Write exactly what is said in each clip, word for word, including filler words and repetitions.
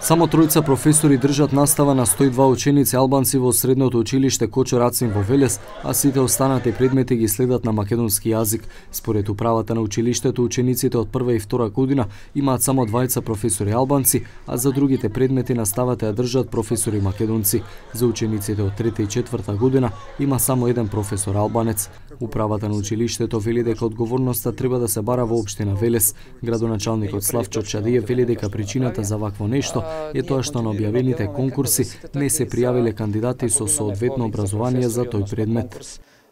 Само тројца професори држат настава на сто и два ученици албанци во средното училиште Кочо Рацин во Велес, а сите останати предмети ги следат на македонски јазик. Според управата на училиштето, учениците од прва и втора година имаат само двајца професори албанци, а за другите предмети наставата ја држат професори македонци. За учениците од трета и четврта година има само еден професор албанец. Управата на училиштето вели дека одговорноста треба да се бара во општина Велес. Градоначалникот Славчо Чадиев вели дека причината за вакво нешто е тоа што на објавените конкурси не се пријавиле кандидати со соодветно образование за тој предмет.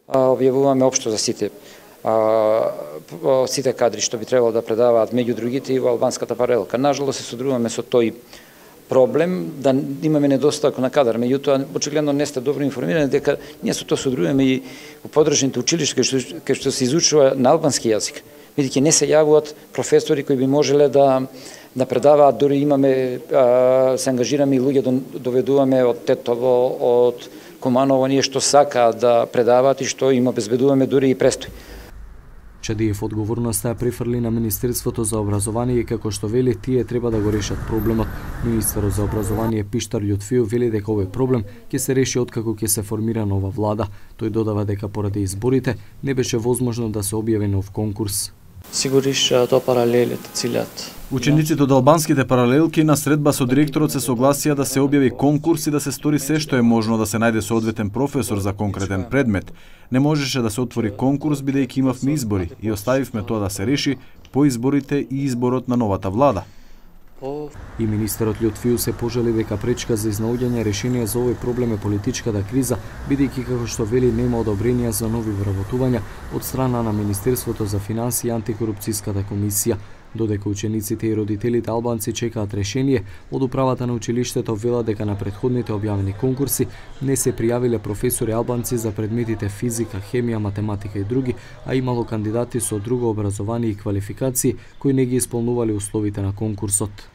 Објавуваме општо за сите сите кадри што би требало да предаваат меѓу другите и во албанската паралелка. Нажалост се содруваме со тој проблем да имаме недостаток на кадар, меѓутоа очигледно не сте добро информирани дека ние со тоа содруваме и во подржните училишта кај што, кај што се изучува на албански јазик, бидејќи не се јавуваат професори кои би можеле да да предаваат, дури имаме а, се ангажираме и луѓе да доведуваме од Тетово, од Куманово, ние што сакаат да предаваат и што им обезбедуваме дури и престој. Чадиев одговорноста ја префрли на Министерството за образование и како што вели тие треба да го решат проблемот. Министерот за образование Пиштар Љутфиев вели дека овој проблем ќе се реши откако ќе се формира нова влада. Тој додава дека поради изборите не беше возможно да се објави нов конкурс. Сигуриш тоа паралелите cilјат. Учениците од албанските паралелки на средба со директорот се согласија да се објави конкурс и да се стори се што е можно да се најде соодветен професор за конкретен предмет. Не можеше да се отвори конкурс бидејќи имавме избори и оставивме тоа да се реши по изборите и изборот на новата влада. И министерот Љутфиев се пожали дека пречка за изнаоѓање решение за овој проблем е политичката криза, бидејќи како што вели нема одобренија за нови вработувања од страна на Министерството за финансии и антикорупцијската комисија. Додека учениците и родителите албанци чекаат решение, од управата на училиштето вела дека на претходните објавени конкурси не се пријавиле професори албанци за предметите физика, хемија, математика и други, а имало кандидати со друго образование и квалификации кои не ги исполнувале условите на конкурсот.